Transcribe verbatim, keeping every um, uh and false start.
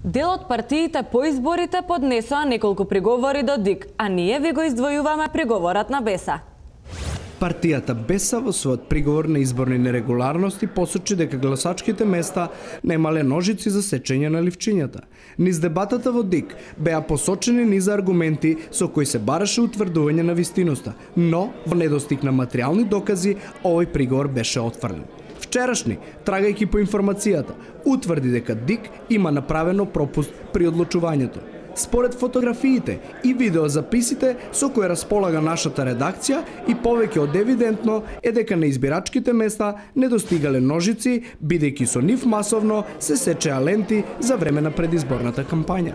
Дел од партиите по изборите поднесоа неколку приговори до ДИК, а ние ви го издвојуваме приговорот на Беса. Партијата Беса во својот приговор на изборни нерегуларности посочи дека гласачките места немале ножици за сечење на ливчињата. Низ дебатата во ДИК беа посочени низ аргументи со кои се бараше утврдување на вистиноста, но во недостиг на материјални докази овој приговор беше отфрлен. Вчерашни, трагајќи по информацијата, утврди дека ДИК има направено пропуст при одлучувањето. Според фотографиите и видеозаписите со кои располага нашата редакција и повеќе од евидентно е дека на избирачките места не достигале ножици, бидејќи со нив масовно се сечеа ленти за време на предизборната кампања.